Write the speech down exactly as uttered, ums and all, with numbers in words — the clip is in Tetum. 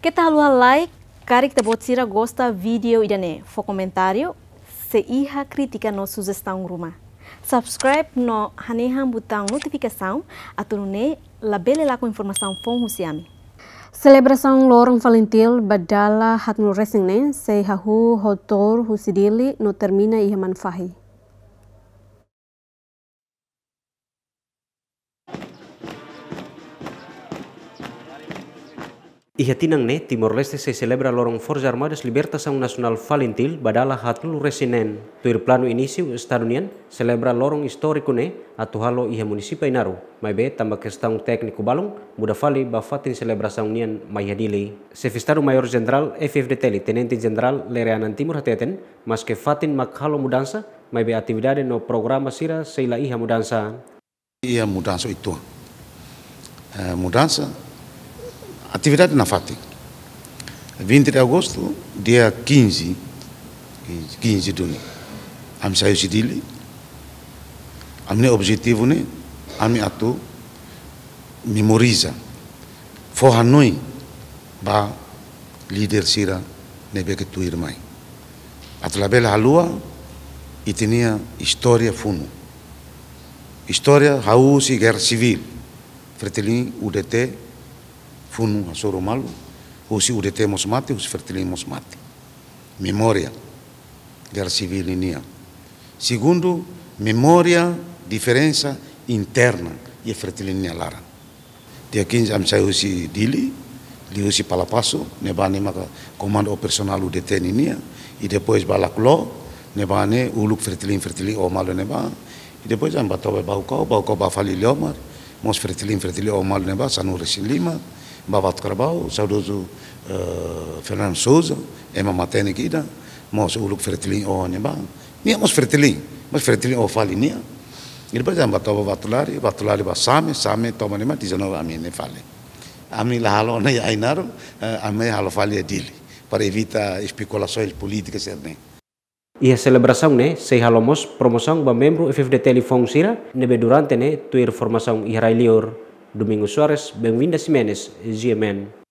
Keta haluha like, karik ita-boot sira gosta vídeo ida-ne'e, fó komentáriu, se iha krítika no sujestaun ruma. Subscribe no hanehan butaun notifikasaun, atu nune'e labele lakon informasaun foun husi ami. Selebrasaun loron FALINTIL ba dala haatnulu resin neen sei hahú ho tour husi Dili no termina iha Manufahi. Iha tinan ne'e, Timor-Leste sei selebra loron Forças Armadas Libertasaun Nasionál FALINTIL ba dala haatnulu resin neen. Tuir planu inísiu, Estadu nian selebra loron istóriku ne'e atu halo iha munisípiu Ainaro, maibé tanba kestaun tékniku balun, muda fali ba fatin selebrasaun nian mai iha Dili. Xefe Estadu Maiór Jenerál F-FDTL, Tenente Jenerál Lere Anan Timur hateten, maske fatin mak halo mudansa, maibé atividade no programa sira sei la iha mudansa. Iha mudansa uitoan. Eh, mudansa, atividade nafatin. Vinte de agosto, dia quinze, quinze duni. Ami sai husi Dili. Ami-nia objetivu ne'e, ami atu memoriza, fó hanoin ba líder sira ne'ebé ke tuirmai. Atu labele haluha ita-nia istória funu. Istória hahú husi guerra civil, Fretilin U D T funu hasoru malu, husi U D T mós mate, husi Fretilin mós mate. Memória guerra civil nian. Segundu, memória diferensa interna iha Fretilin nia laran. Dia quinze ami sai husi Dili, liuhusi Palapaso, ne'ebá ne'e maka komandu operasionál U D T nian, i depois ba Lakuló, ne'ebá ne'e uluk Fretilin, Fretilin oho malu ne'ebá, i depois ami ba toba Baucau, Baucau ba fali Iliomar, mós Fretilin, Fretilin oho malu ne'ebá, sanulu resin lima, ba Vatu Carabao, saudozu, eh, Fernando Sousa, ema matenek ida, mós uluk Fretilin oho ne'ebá. Nia mós Fretilin, mós Fretilin oho fali nia. I depois ami ba toba Vatulari, Vatulari ba Same, Same toba ne'e mak dezanove ami ne'e fali. Ami la halo ona iha Ainaro, eh, ami halo fali iha Dili, para evita espekulasaun polítika sira-ne'e. Iha selebrasaun ne'e, sei halo mós promosaun ba membru F-FDTL foun sira, ne'ebé durante ne'e tuir formasaun iha rai-liur. Domingos Soares, Benvinda Ximenes, G M N.